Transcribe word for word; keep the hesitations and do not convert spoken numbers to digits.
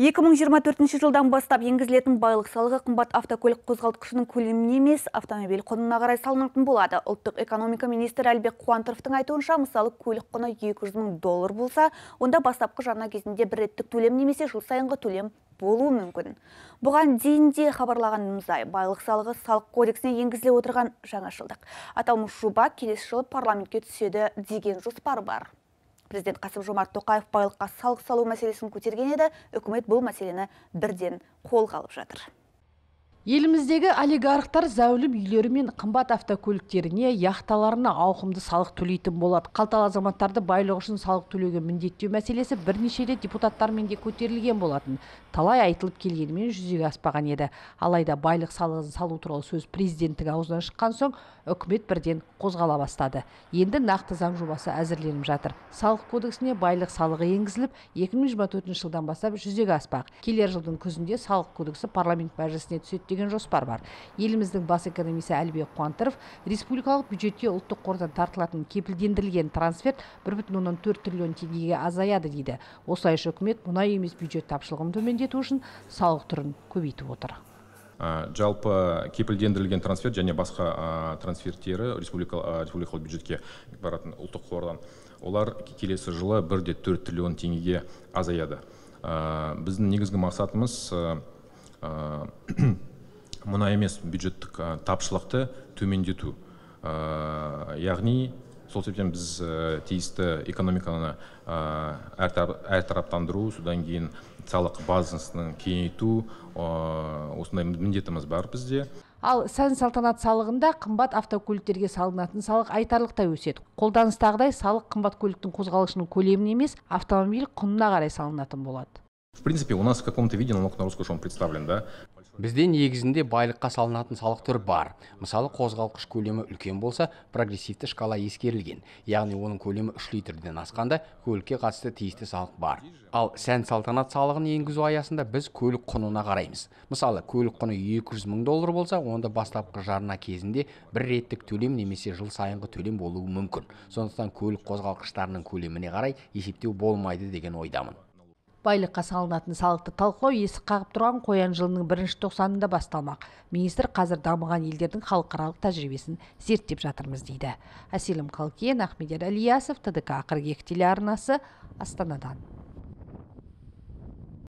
екі мың жиырма төртінші жылдан бастап енгізілетін байлық салығы қымбат автокөлік қозғалтқышының көлеміне емес, автомобиль құнына қарай салынатын болады. Ұлттық экономика министрі Әлібек Қуантаровтың айтуынша, мысалы көлік құны екі жүз мың доллар болса, онда бастапқы жарна кезінде бір реттік төлем немесе жыл сайынғы төлем болуы мүмкін. Бұған дейін де хабарлағанымыздай, байлық салығы салық кодексіне енгізіле отырған жаңашылдық. Аталмыш жоба келесі жылы парламентке түседі деген жоспар бар. Президент Қасым-Жомарт Тоқаев байлыққа салық салу мәселесін көтерген еді, үкімет бұл мәселені бірден қолға алып жатыр. Еліміздегі олигархтар зәулім үйлері мен қымбат автокөліктеріне, яхталарына ауқымды салық төлейтін болады. Қалталы азаматтарды байлығы үшін салық төлеуге міндеттеу мәселесі бірнеше рет депутаттармен де көтерілген болатын. Талай айтылып келгенімен жүзеге аспаған еді. Алайда байлық салығын салу туралы сөз президенттің аузынан шыққан соң, үкімет бірден қозғала бастады. Енді нақты заң жобасы әзірленіп жатыр. Салық кодексіне байлық салығы енгізіліп, екі мың жиырма төртінші жылдан бастап жүзеге аспақ. Келер жылдың күзінде салық кодексі парламент мәжілісіне түседі деген жоспар бар. Еліміздің бас экономисі Әлібек Қуантаров республикалық бюджетке ұлттық қордан тартылатын кепілдендірілген трансферт бір бүтін оннан төрт триллион теңгеге азаяды дейді. Осылайша үкімет мұнай емес бюджет тапшылығын төмендету үшін салық түрін көбейтіп отыр. Жалпы кепілдендірілген трансферт және басқа трансферттері республикалық бюджетке баратын ұлттық қордан, олар келесі жылы бір де төрт триллион теңгеге азаяды. Біздің негізгі мақсатымыз мұнай емес бюджеттік тапшылықты төмендету. Яғни, сол себептен біз тиісті экономиканы әртараптандыру, содан кейін салық базасын кеңейту, осындай міндетіміз бар бізде. Ал сән-салтанат салығында қымбат автокөліктерге салынатын салық айтарлықтай өседі. Қолданыстағыдай салық қымбат көліктің қозғалышының көлеміне емес, автомобиль құнына қарай салынатын болады. В принципе, у нас в каком-то виде налог на роскошь он представлен, да? Бізде негізінде байлыққа салынатын салық түрі бар. Мысалы, қозғалғыш көлемі үлкен болса, прогрессивті шкала ескерілген. Яғни оның көлемі үш литрден асқанда көлікке қатысты тиісті салық бар. Ал сән-салтанат салығын енгізу аясында біз көлік құнына қараймыз. Мысалы, көлік құны екі жүз мың доллар болса, онда бастапқы жарна кезінде бір реттік төлем немесе жыл сайынғы төлем болуы мүмкін. Сондықтан көлік қозғалғыштарының көлеміне қарай есептеу болмайды деген ойдамын. Байлыққа салынатын салықты талқылау есік қағып тұрған қоян жылының бірінші тоқсанында басталмақ. Министр қазір дамыған елдердің халықаралық тәжірибесін зерттеп жатырмыз дейді. Әселім Қалкен, Ахмедияр Алиясов, Т Д К қырық екі телеарнасы, Астанадан.